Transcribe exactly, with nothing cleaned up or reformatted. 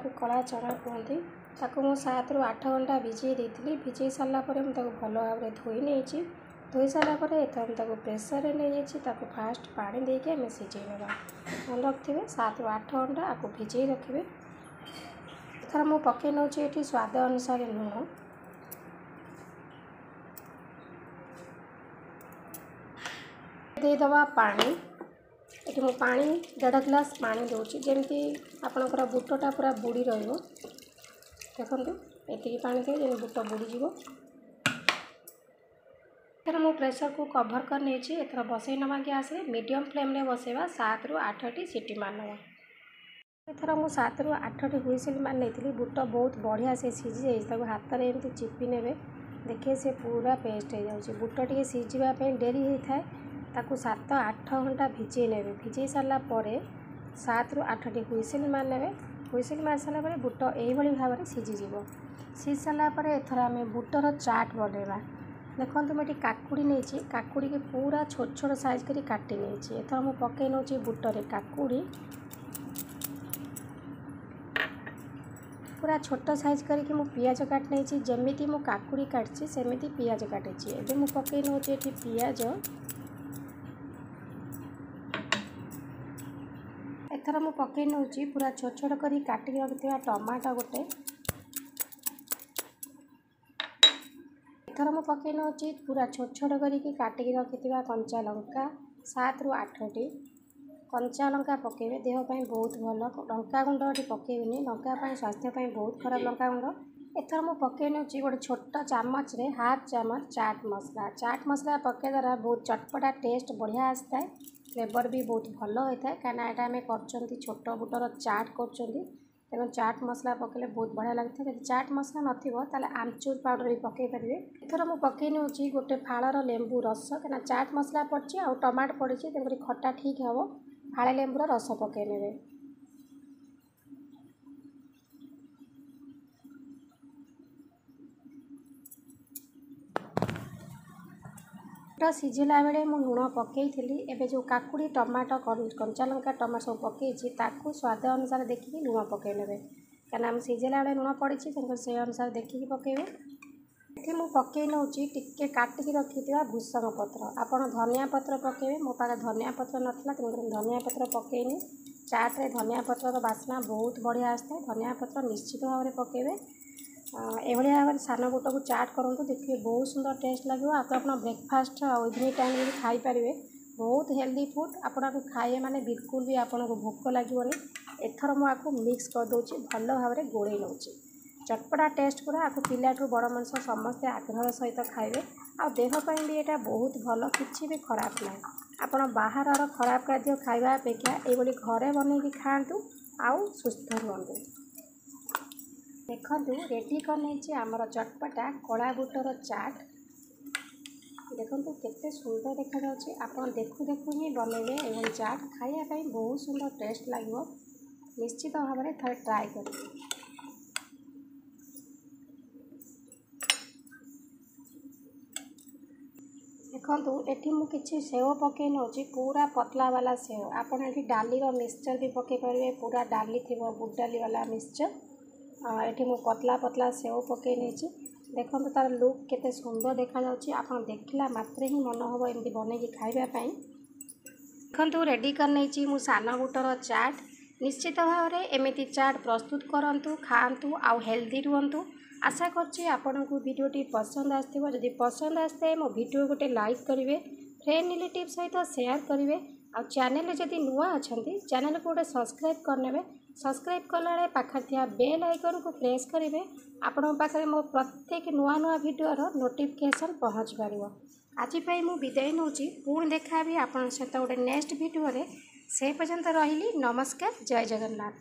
ଯାହାକୁ କଳା ଚଣା କୁହନ୍ତି, ତାକୁ ମୁଁ ସାତରୁ ଆଠ ଘଣ୍ଟା ଭିଜେଇ ଦେଇଥିଲି। ଭିଜେଇ ସାରିଲା ପରେ ମୁଁ ତାକୁ ଭଲ ଭାବରେ ଧୋଇ ନେଇଛି। ଧୋଇ ସାରିଲା ପରେ ଏଥର ମୁଁ ତାକୁ ପ୍ରେସରରେ ନେଇଯାଇଛି। ତାକୁ ଫାଷ୍ଟ ପାଣି ଦେଇକି ଆମେ ସିଝେଇ ନେବା। ମନେ ରଖିଥିବେ, ସାତରୁ ଆଠ ଘଣ୍ଟା ଆକୁ ଭିଜେଇ ରଖିବେ। ଏଥର ମୁଁ ପକାଇ ନେଉଛି ଏଠି ସ୍ୱାଦ ଅନୁସାରେ ଲୁଣ। ଦେଇଦେବା ପାଣି। ଏଠି ମୁଁ ପାଣି ଦେଢ଼ ଗ୍ଲାସ୍ ପାଣି ଦେଉଛି, ଯେମିତି ଆପଣଙ୍କର ବୁଟଟା ପୁରା ବୁଡ଼ି ରହିବ। ଦେଖନ୍ତୁ, ଏତିକି ପାଣି ଦେବେ ଯେମିତି ବୁଟ ବୁଡ଼ିଯିବ। ଏଥର ମୁଁ ପ୍ରେସରକୁ କଭର୍ କରି ନେଇଛି। ଏଥର ବସେଇ ନେବା ଗ୍ୟାସ୍ରେ, ମିଡ଼ିୟମ୍ ଫ୍ଲେମ୍ରେ ବସେଇବା। ସାତରୁ ଆଠଟି ସିଟି ମାରିନେବା। ଏଥର ମୁଁ ସାତରୁ ଆଠଟି ହୁଇସିଲ୍ ମାରି ନେଇଥିଲି। ବୁଟ ବହୁତ ବଢ଼ିଆ ସେ ସିଝି ଯାଇଛି। ତାକୁ ହାତରେ ଏମିତି ଚିପି ନେବେ, ଦେଖିବେ ସେ ପୁରା ପେଷ୍ଟ ହେଇଯାଉଛି। ବୁଟ ଟିକେ ସିଝିବା ପାଇଁ ଡେରି ହେଇଥାଏ। ତାକୁ ସାତ ଆଠ ଘଣ୍ଟା ଭିଜେଇ ନେବେ। ଭିଜେଇ ସାରିଲା ପରେ ସାତରୁ ଆଠଟି ହୁଇସିଲ୍ ମାରି ନେବେ। ହୁଇସିଲ୍ ମାରି ସାରିଲା ପରେ ବୁଟ ଏଇଭଳି ଭାବରେ ସିଝିଯିବ। ସିଝି ସାରିଲା ପରେ ଏଥର ଆମେ ବୁଟର ଚାଟ୍ ବନେଇବା। ଦେଖନ୍ତୁ, ମୁଁ ଏଠି କାକୁଡ଼ି ନେଇଛି। କାକୁଡ଼ିକି ପୁରା ଛୋଟ ଛୋଟ ସାଇଜ୍ କରି କାଟି ନେଇଛି। ଏଥର ମୁଁ ପକାଇ ନେଉଛି ବୁଟରେ କାକୁଡ଼ି। ପୁରା ଛୋଟ ସାଇଜ୍ କରିକି ମୁଁ ପିଆଜ କାଟି ନେଇଛି। ଯେମିତି ମୁଁ କାକୁଡ଼ି କାଟିଛି, ସେମିତି ପିଆଜ କାଟିଛି। ଏବେ ମୁଁ ପକାଇ ନେଉଛି ଏଠି ପିଆଜ। ଏଥର ମୁଁ ପକାଇ ନେଉଛି ପୁରା ଛୋଟ ଛୋଟ କରି କାଟିକି ରଖିଥିବା ଟମାଟୋ ଗୋଟେ। ଏଥର ମୁଁ ପକାଇ ନେଉଛି ପୁରା ଛୋଟ ଛୋଟ କରିକି କାଟିକି ରଖିଥିବା କଞ୍ଚା ଲଙ୍କା, ସାତରୁ ଆଠଟି କଞ୍ଚା ଲଙ୍କା ପକାଇବେ, ଦେହ ପାଇଁ ବହୁତ ଭଲ। ଲଙ୍କା ଗୁଣ୍ଡ ଏଠି ପକାଇବେନି, ଲଙ୍କା ପାଇଁ ସ୍ୱାସ୍ଥ୍ୟ ପାଇଁ ବହୁତ ଖରାପ ଲଙ୍କା ଗୁଣ୍ଡ। ଏଥର ମୁଁ ପକାଇ ନେଉଛି ଗୋଟେ ଛୋଟ ଚାମଚରେ ହାଫ୍ ଚାମଚ ଚାଟ୍ ମସଲା। ଚାଟ୍ ମସଲା ପକାଇବା ଦ୍ୱାରା ବହୁତ ଚଟପଟା ଟେଷ୍ଟ ବଢ଼ିଆ ଆସିଥାଏ, ଫ୍ଲେଭର୍ ବି ବହୁତ ଭଲ ହୋଇଥାଏ। କାହିଁକିନା ଏଇଟା ଆମେ କରୁଛନ୍ତି ଛୋଟ ବୁଟର ଚାଟ୍ କରୁଛନ୍ତି, ତେଣୁ ଚାଟ୍ ମସଲା ପକାଇଲେ ବହୁତ ବଢ଼ିଆ ଲାଗିଥାଏ। ଯଦି ଚାଟ୍ ମସଲା ନଥିବ, ତାହେଲେ ଆମଚୁର ପାଉଡ଼ର ବି ପକାଇ ପାରିବେ। ଏଥର ମୁଁ ପକାଇ ନେଉଛି ଗୋଟେ ଫାଳର ଲେମ୍ବୁ ରସ। କାହିଁକିନା ଚାଟ୍ ମସଲା ପଡ଼ିଛି ଆଉ ଟମାଟୋ ପଡ଼ିଛି, ତେଣୁକରି ଖଟା ଠିକ୍ ହେବ। ଫାଳେ ଲେମ୍ବୁର ରସ ପକାଇ ନେବେ। ବୁଟ ସିଝିଲା ବେଳେ ମୁଁ ଲୁଣ ପକାଇଥିଲି। ଏବେ ଯେଉଁ କାକୁଡ଼ି, ଟମାଟୋ, କଞ୍ଚା ଲଙ୍କା, ଟମାଟୋ ସବୁ ପକାଇଛି, ତାକୁ ସ୍ୱାଦ ଅନୁସାରେ ଦେଖିକି ଲୁଣ ପକାଇ ନେବେ। କାହିଁକିନା ଆମେ ସିଝିଲା ବେଳେ ଲୁଣ ପଡ଼ିଛି, ତେଣୁକରି ସେଇ ଅନୁସାରେ ଦେଖିକି ପକାଇବେ। ଏଠି ମୁଁ ପକାଇ ନେଉଛି ଟିକେ କାଟିକି ରଖିଥିବା ଭୃସଙ୍ଗ ପତ୍ର। ଆପଣ ଧନିଆ ପତ୍ର ପକାଇବେ। ମୋ ପାଖରେ ଧନିଆ ପତ୍ର ନଥିଲା, ତେଣୁକରି ମୁଁ ଧନିଆ ପତ୍ର ପକାଇନି। ଚାଟ୍ରେ ଧନିଆ ପତ୍ରର ବାସ୍ନା ବହୁତ ବଢ଼ିଆ ଆସିଥାଏ। ଧନିଆ ପତ୍ର ନିଶ୍ଚିତ ଭାବରେ ପକାଇବେ। ଏଭଳି ଭାବରେ ସାନ ବୁଟକୁ ଚାଟ୍ କରନ୍ତୁ, ଦେଖିବେ ବହୁତ ସୁନ୍ଦର ଟେଷ୍ଟ ଲାଗିବ। ଆକୁ ଆପଣ ବ୍ରେକଫାଷ୍ଟ ଆଉ ଇଭିନିଂ ଟାଇମ୍ରେ ବି ଖାଇପାରିବେ। ବହୁତ ହେଲ୍ଦି ଫୁଡ଼୍। ଆପଣ ଆକୁ ଖାଇବେ ମାନେ ବିଲକୁଲ ବି ଆପଣଙ୍କୁ ଭୋକ ଲାଗିବନି। ଏଥର ମୁଁ ଆକୁ ମିକ୍ସ କରିଦେଉଛି, ଭଲ ଭାବରେ ଗୋଳେଇ ନେଉଛି। ଚଟପଟା ଟେଷ୍ଟ ପୁରା। ଆକୁ ପିଲାଠୁ ବଡ଼ ମଣିଷ ସମସ୍ତେ ଆଗ୍ରହର ସହିତ ଖାଇବେ। ଆଉ ଦେହ ପାଇଁ ବି ଏଇଟା ବହୁତ ଭଲ, କିଛି ବି ଖରାପ ନାହିଁ। ଆପଣ ବାହାରର ଖରାପ ଖାଦ୍ୟ ଖାଇବା ଅପେକ୍ଷା ଏଇଭଳି ଘରେ ବନେଇକି ଖାଆନ୍ତୁ ଆଉ ସୁସ୍ଥ ରୁହନ୍ତୁ। ଦେଖନ୍ତୁ, ରେଡ଼ି କରିନେଇଛି ଆମର ଚଟପଟା କଳା ବୁଟର ଚାଟ୍। ଦେଖନ୍ତୁ କେତେ ସୁନ୍ଦର ଦେଖାଯାଉଛି। ଆପଣ ଦେଖୁ ଦେଖୁ ହିଁ ବନେଇବେ ଏଭଳି ଚାଟ୍, ଖାଇବା ପାଇଁ ବହୁତ ସୁନ୍ଦର ଟେଷ୍ଟ ଲାଗିବ। ନିଶ୍ଚିତ ଭାବରେ ଥରେ ଟ୍ରାଏ କରିବେ। ଦେଖନ୍ତୁ, ଏଠି ମୁଁ କିଛି ସେଓ ପକାଇ ନେଉଛି, ପୁରା ପତଲା ବାଲା ସେଓ। ଆପଣ ଏଠି ଡାଲିର ମିକ୍ସଚର୍ ବି ପକାଇ ପାରିବେ, ପୁରା ଡାଲି ଥିବ, ବୁଟ ଡାଲି ବାଲା ମିକ୍ସଚର୍। ଏଠି ମୁଁ ପତଲା ପତଲା ସେଓ ପକାଇ ନେଇଛି। ଦେଖନ୍ତୁ ତା'ର ଲୁକ୍ କେତେ ସୁନ୍ଦର ଦେଖାଯାଉଛି। ଆପଣ ଦେଖିଲା ମାତ୍ରେ ହିଁ ମନ ହେବ ଏମିତି ବନେଇକି ଖାଇବା ପାଇଁ। ଦେଖନ୍ତୁ, ରେଡ଼ି କରିନେଇଛି ମୁଁ ସାନ ବୁଟର ଚାଟ୍। ନିଶ୍ଚିତ ଭାବରେ ଏମିତି ଚାଟ୍ ପ୍ରସ୍ତୁତ କରନ୍ତୁ, ଖାଆନ୍ତୁ ଆଉ ହେଲ୍ଦି ରୁହନ୍ତୁ। ଆଶା କରୁଛି ଆପଣଙ୍କୁ ଭିଡ଼ିଓଟି ପସନ୍ଦ ଆସିଥିବ। ଯଦି ପସନ୍ଦ ଆସିଥାଏ, ମୋ ଭିଡ଼ିଓ ଗୋଟେ ଲାଇକ୍ କରିବେ, ଫ୍ରେଣ୍ଡ ରିଲେଟିଭ୍ ସହିତ ସେୟାର କରିବେ। ଆଉ ଚ୍ୟାନେଲରେ ଯଦି ନୂଆ ଅଛନ୍ତି, ଚ୍ୟାନେଲକୁ ଗୋଟେ ସବସ୍କ୍ରାଇବ୍ କରିନେବେ। ସବସ୍କ୍ରାଇବ୍ କଲାବେଳେ ପାଖରେ ଥିବା ବେଲ୍ ଆଇକନ୍କୁ ପ୍ରେସ୍ କରିବେ। ଆପଣଙ୍କ ପାଖରେ ମୋ ପ୍ରତ୍ୟେକ ନୂଆ ନୂଆ ଭିଡ଼ିଓର ନୋଟିଫିକେସନ୍ ପହଞ୍ଚି ପାରିବ। ଆଜି ପାଇଁ ମୁଁ ବିଦାୟ ନେଉଛି। ପୁଣି ଦେଖା ହେବି ଆପଣଙ୍କ ସହିତ ଗୋଟେ ନେକ୍ସଟ ଭିଡ଼ିଓରେ। ସେ ପର୍ଯ୍ୟନ୍ତ ରହିଲି, ନମସ୍କାର, ଜୟ ଜଗନ୍ନାଥ।